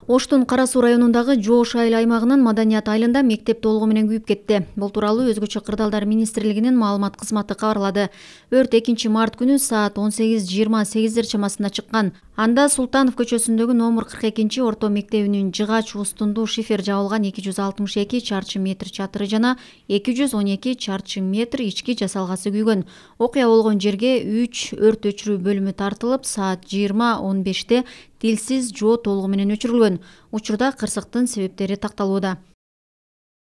Оштун Кара Суу районундагы Жоош айыл аймагынын Маданият айылында мектеп толугу менен күйүп кетти. Бул тууралуу Өзгөчө кырдаалдар министрлигинин маалымат кызматы кабарлады. Өрт 2 март күнү саат 18:28 чамасында чыккан. Анда Султанов көчөсүндөгү номер 42 орто мектебинин жыгач устунду шифер жабылган 262 чарчы метр чатыры жана 212 чарчы метр ички жасалгасы күйгөн. Окуя болгон жерге 3 өрт өчүрүү бөлүмү тартылып, саат 20:15 тилсиз жоо толугу менен өчүрүлгөн. Учурда кырсыктын себептери такталууда.